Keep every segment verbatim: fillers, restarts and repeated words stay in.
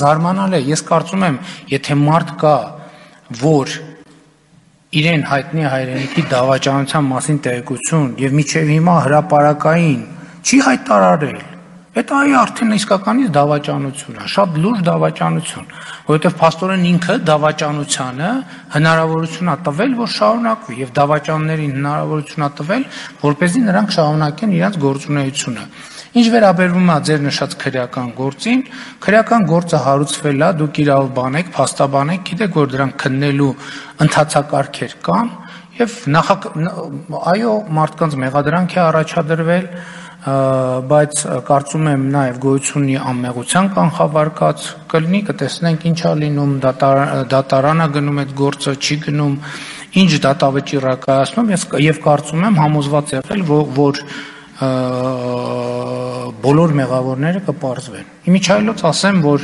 զարմանալ է, ես կարծում եմ, եթե մարդ կա, որ իրեն հայտնի հայրենիքի դավաճանության մասին տեղեկություն եւ միջև հիմա հրապարակային չի հայտարարել, այդ այ արդեն իսկականից դավաճանություն է, շատ լուրջ դավաճանություն, որովհետեւ փաստորեն ինքը դավաճանությանը հնարավորություն է տվել, որ շարունակվի եւ դավաճաններին հնարավորություն է տվել, որպեսզի նրանք շարունակեն իրենց գործունեությունը։ Ինչ վերաբերվում է ձեր նշած քրեական գործին, քրեական գործը հարուցվել է, դուք իրավ բանեք, փաստաբանեք, գիտեք, որ դրանք քննելու ընթացակարգեր կան եւ նախ այո, մարդկանց մեղադրանք է առաջադրվել, բայց կարծում եմ նաեւ գոյություն ունի անմեղության կանխավարկած, կլինի կտեսնենք ինչա լինում, դատարանը գնում այդ գործը, չի գնում, ինչ դատավճիռ է կայացնում եւ կարծում եմ համոզված եղել, որ բոլոր մեղավորները կպարզվեն։ Իմիջայլոց ասեմ, որ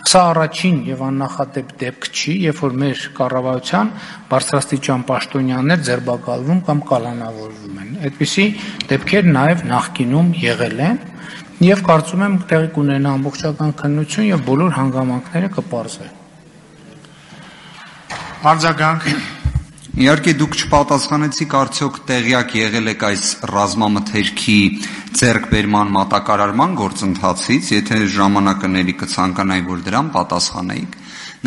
սա առաջին եւ աննախադեպ դեպք չի, երբ որ մեր կառավարության բարձրաստիճան պաշտոնյաներ ձերբակալվում կամ կալանավորվում են։ Այդպիսի դեպքեր նաեւ նախկինում եղել են եւ կարծում եմ տեղի կունենա ամբողջական քննություն եւ բոլոր հանգամանքները կպարզվեն։ Արձագանք Իհարկե դուք չպատասխանեցիք արդյոք տեղյակ եղել եք այս ռազմամթերքի ձեռքբերման մատակարարման գործընթացից, եթե ժամանակների կցանկանայի, որ դրան պատասխանեիք,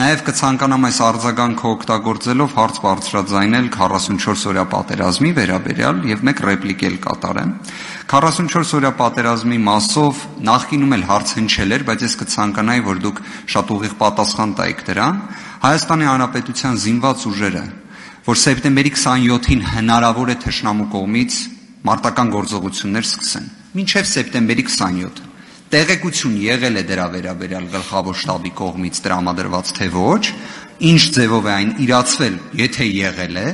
նաև կցանկանամ այս արձագանքը օգտագործելով հարց բարձրաձայնել քառասունչորս օրյա պատերազմի վերաբերյալ եւ մեկ ռեպլիկ էլ կատարեմ։ քառասունչորս օրյա պատերազմի մասով նախկինում էլ հարց հնչել էր, բայց ես կցանկանայի, որ դուք շատ ուղիղ պատասխան տայիք դրան։ Հայաստանի Հանրապետության զինված ուժերը որ սեպտեմբերի քսանյոթին հնարավոր է թշնամու կողմից մարտական գործողություններ սկսեն։ Մինչև սեպտեմբերի քսանյոթը տեղեկություն եղել է դրա վերաբերյալ գլխավոր շտաբի կողմից տրամադրված թե ոչ, ինչ ձևով է այն իրացվել, եթե եղել է,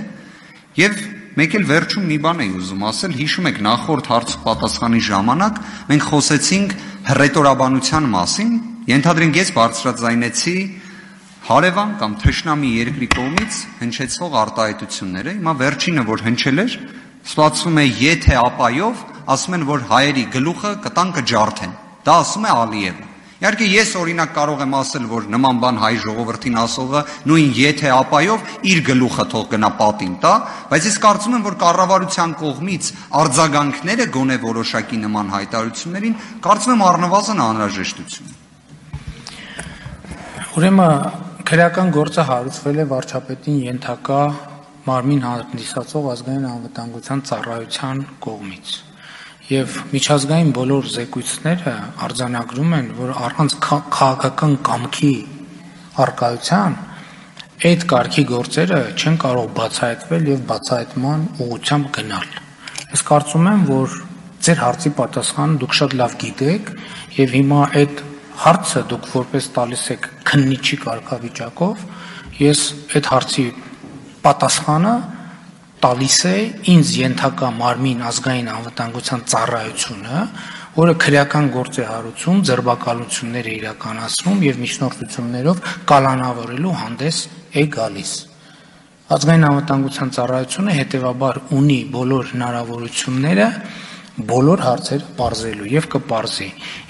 եւ մեկ էլ վերջում մի բան էի ուզում ասել, հիշում եք նախորդ հարց պատասխանի ժամանակ մենք խոսեցինք հռետորաբանության մասին, ենթադրենք ես բարձրաձայնեցի հարևան կամ թշնամի երկրի կողմից հնչեցող արտահայտությունները, հիմա վերջինը որ հնչել էր, ստացվում է եթե ապայով, ասում են որ հայերի գլուխը կտան կջարդեն։ Դա ասում է Ալիևը։ Իհարկե ես օրինակ կարող եմ ասել, որ նման բան հայ ժողովրդին ասողը նույն եթե ապայով իր գլուխը թող գնա պատին տա, բայց ես կարծում եմ, որ կառավարության կողմից արձագանքները գոնե որոշակի նման հայտարարություններին կարծում եմ առնվազն անհրաժեշտություն։ Ուրեմն քրեական գործը հարուցվել է վարչապետին ենթակա մարմին հանդիսացող ազգային անվտանգության ծառայության կողմից եւ միջազգային բոլոր զեկույցները արձանագրում են, որ առանց քաղաքական կամքի առկայության այդ կարգի գործերը չեն կարող բացահայտվել եւ բացահայտման ուղղությամբ գնալ։ Ես կարծում եմ, որ ձեր հարցի պատասխանը դուք շատ լավ գիտեք եւ հիմա այդ հարցը դուք որպես տալիս եք քննիչի կարգավիճակով, ես այդ հարցի պատասխանը տալիս է ինձ ենթակա մարմին ազգային անվտանգության ծառայությունը, որը քրեական գործ է հարուցում, ձերբակալություններ է իրականացնում եւ միջնորդություններով կալանավորելու հանդես է գալիս։ Ազգային անվտանգության ծառայությունը հետեւաբար ունի բոլոր հնարավորությունները բոլոր հարցերը պարզելու եւ կպարզի։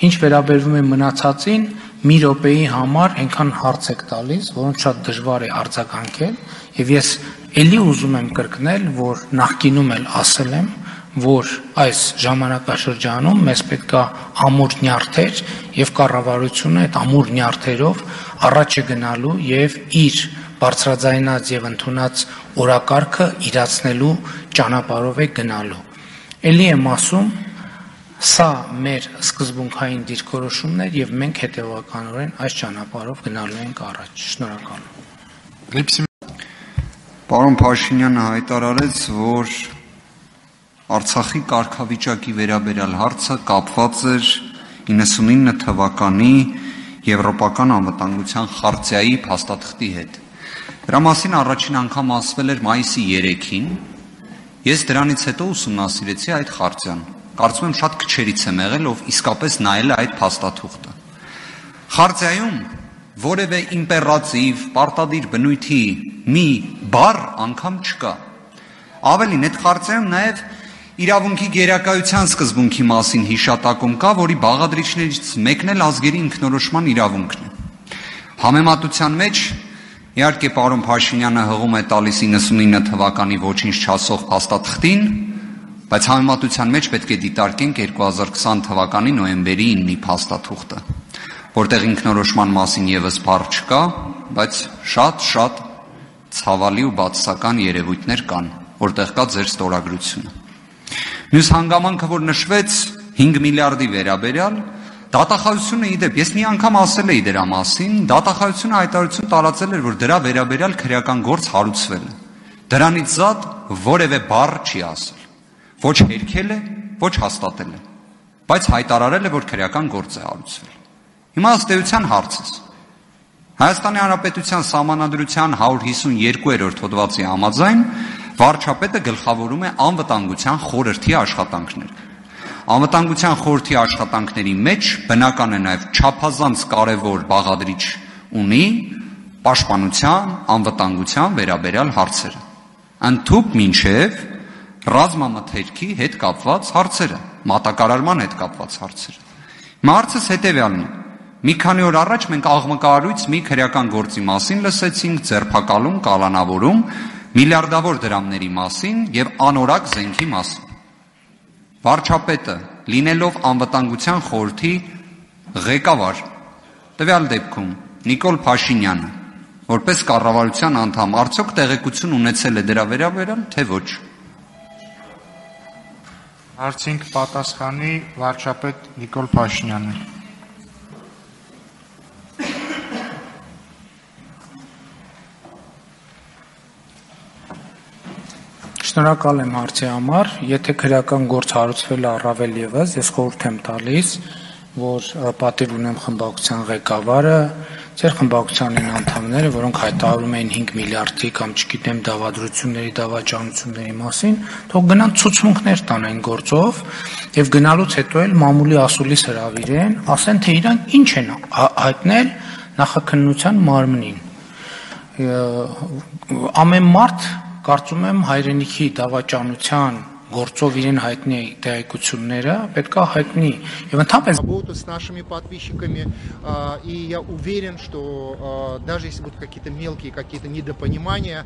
Ինչ վերաբերվում է մնացածին, մի րոպեի համար այնքան հարց եք տալիս, որոնց շատ դժվար է արձագանքել, եւ ես ելի ուզում եմ կրկնել, որ նախկինում էլ ասել եմ, որ այս ժամանակաշրջանում մեզ պետք է ամուր նյարդեր եւ կառավարությունը այդ ամուր նյարդերով առաջ է գնալու եւ իր բարձրաձայնած եւ ընդունած օրակարգը իրացնելու ճանապարհով է գնալու։ Էլի եմ ասում, սա մեր սկզբունքային դիրքորոշումն է եւ մենք հետեւականորեն այս ճանապարհով գնալու ենք առաջ։ Շնորհակալ եմ։ Պարոն Փաշինյանը հայտարարեց, որ Արցախի կարգավիճակի վերաբերյալ հարցը կապված էր իննսունինը թվականի Եվրոպական անվտանգության խարտիայի փաստաթղթի հետ։ Դրա մասին առաջին անգամ ասվել էր մայիսի երեքին։ Ես դրանից հետո ուսումնասիրեցի այդ խարտիան։ Կարծում եմ շատ քչերից եմ եղել, ով իսկապես նայել է այդ փաստաթուղթը։ Խարտիայում որևէ իմպերատիվ, պարտադիր բնույթի մի բառ անգամ չկա։ Ավելին, այդ խարտիայում նաև իրավունքի գերակայության սկզբունքի մասին հիշատակում կա, որի բաղադրիչներից մեկն էլ ազգերի ինքնորոշման իրավունքն է։ Համեմատության մեջ իհարկե պարոն Փաշինյանը հղում է տալիս իննսունինը թվականի ոչինչ չասող փաստաթղթին, բայց համեմատության մեջ պետք է դիտարկենք երկու հազար քսան թվականի նոյեմբերի իննի փաստաթուղթը, որտեղ ինքնորոշման մասին եւս բառ չկա, բայց շատ-շատ ցավալի ու բացասական երևույթներ կան, որտեղ կա ձեր ստորագրությունը։ Մյուս հանգամանքը, որ նշվեց հինգ միլիարդի վերաբերյալ, դատախազությունը իդեպ, ես մի անգամ ասել էի դրա մասին, դատախազությունը հայտարարություն տարածել էր, որ դրա վերաբերյալ քրեական գործ հարուցվել է։ Դրանից զատ որևէ բառ չի ասել։ Ոչ հերքել է, ոչ հաստատել է, բայց հայտարարել է, որ քրեական գործ է հարուցվել։ Հիմա ըստ էության հարցս։ Հայաստանի Հանրապետության Սահմանադրության հարյուր հիսունյոթերորդ հոդվածի համաձայն վարչապետը գլխավորում է անվտանգության խորհրդի աշխատանքները։ Անվտանգության խորհրդի աշխատանքների մեջ բնական է նաև չափազանց կարևոր բաղադրիչ ունի պաշտպանության, անվտանգության վերաբերյալ հարցերը, ընդհուպ մինչև ռազմամթերքի հետ կապված հարցերը, մատակարարման հետ կապված հարցերը։ Հիմա հարցս հետևյալն է. մի քանի օր առաջ մենք աղմկահարույց մի քրեական գործի մասին լսեցինք, ձերբակալում, կալանավորում, միլիարդավոր դրամների մասին եւ անորակ զենքի մասին։ Վարչապետը, լինելով անվտանգության խորհրդի ղեկավար, տվյալ դեպքում Նիկոլ Փաշինյանը, որպես կառավարության անդամ, արդյոք տեղեկություն ունեցել է դրա վերաբերյալ, թե ոչ։ Հարցին կպատասխանի վարչապետ Նիկոլ Փաշինյանը։ Շնորհակալ եմ հարցի համար, եթե քրեական գործ հարուցվել է առավել եւս, ես խորհուրդ եմ տալիս, որ պատիվ ունեմ խմբակցության ղեկավարը, ձեր խմբակցության անդամները, որոնք հայտարարում էին հինգ միլիարդի կամ չգիտեմ դավադրությունների, դավաճանությունների մասին, թող գնան ցուցմունքներ տան այն գործով եւ գնալուց հետո էլ մամուլի ասուլիս հրավիրեն, ասեն թե իրանք ինչ են հայտնել նախաքննության մարմնին։ Ամեն մարդ կարծում եմ հայրենիքի դավաճանության գործով իրեն հայտնի տեղեկությունները պետք է հայտնի եւ ընդհանրապես работу с нашими подписчиками, и я уверен, что даже если будут какие-то мелкие какие-то недопонимания,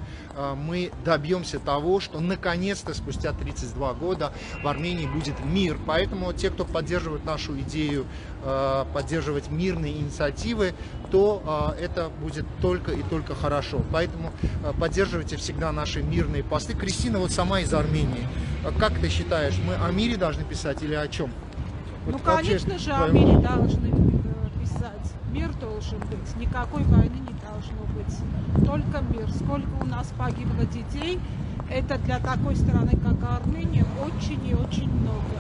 мы добьемся того, что наконец-то спустя тридцать два года в Армении будет мир. Поэтому те, кто поддерживает нашу идею поддерживать мирные инициативы, то это будет только и только хорошо. Поэтому поддерживайте всегда наши мирные посты. Кристина вот сама из Армении. Как ты считаешь, мы о мире должны писать или о чем? Ну, Вот конечно вообще, же, о мире должны писать. Мир должен быть. Никакой войны не должно быть. Только мир. Сколько у нас погибло детей, это для такой страны, как Армения, очень и очень много.